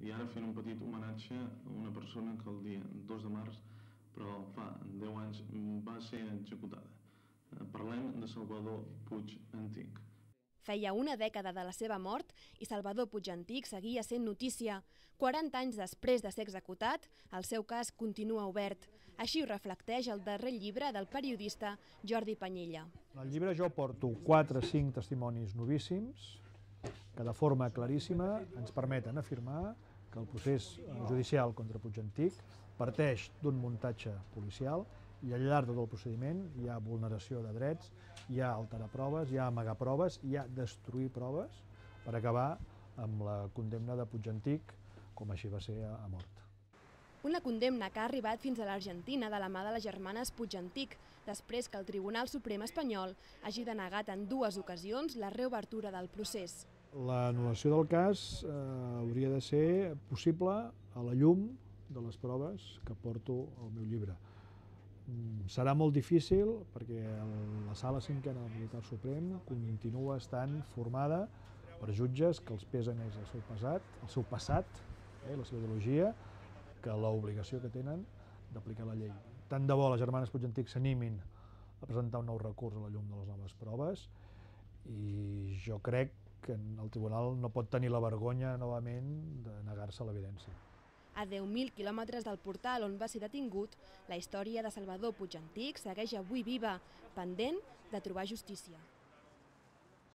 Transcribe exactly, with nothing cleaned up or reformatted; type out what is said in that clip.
i ara fent un petit homenatge a una persona que el dia dos de març, però fa deu anys, va ser executada. Parlem de Salvador Puig Antich. Feia una dècada de la seva mort i Salvador Puig Antich seguia sent notícia. quaranta anys després de ser executat, el seu cas continua obert. Així ho reflecteix el darrer llibre del periodista Jordi Panyella. Al llibre jo porto quatre o cinc testimonis novíssims que de forma claríssima ens permeten afirmar que el procés judicial contra Puig Antich parteix d'un muntatge policial i al llarg de tot el procediment hi ha vulneració de drets, hi ha alterar proves, hi ha amagar proves, hi ha destruir proves per acabar amb la condemna de Puig Antich, com així va ser a mort. Una condemna que ha arribat fins a l'Argentina de la mà de les germanes Puig Antich, després que el Tribunal Suprem espanyol hagi denegat en dues ocasions la reobertura del procés. L'anul·lació del cas eh, hauria de ser possible a la llum de les proves que porto al meu llibre. Serà molt difícil perquè la Sala Cinquena del Militar Suprem continua estant formada per jutges que els pesa més el seu passat, el seu passat, eh, la seva ideologia, que l'obligació que tenen d'aplicar la llei. Tant de bo les germanes Puig Antich s'animin a presentar un nou recurs a la llum de les noves proves i jo crec que el tribunal no pot tenir la vergonya novament de negar-se a l'evidència. A deu mil quilòmetres del portal on va ser detingut, la història de Salvador Puig Antich segueix avui viva, pendent de trobar justícia.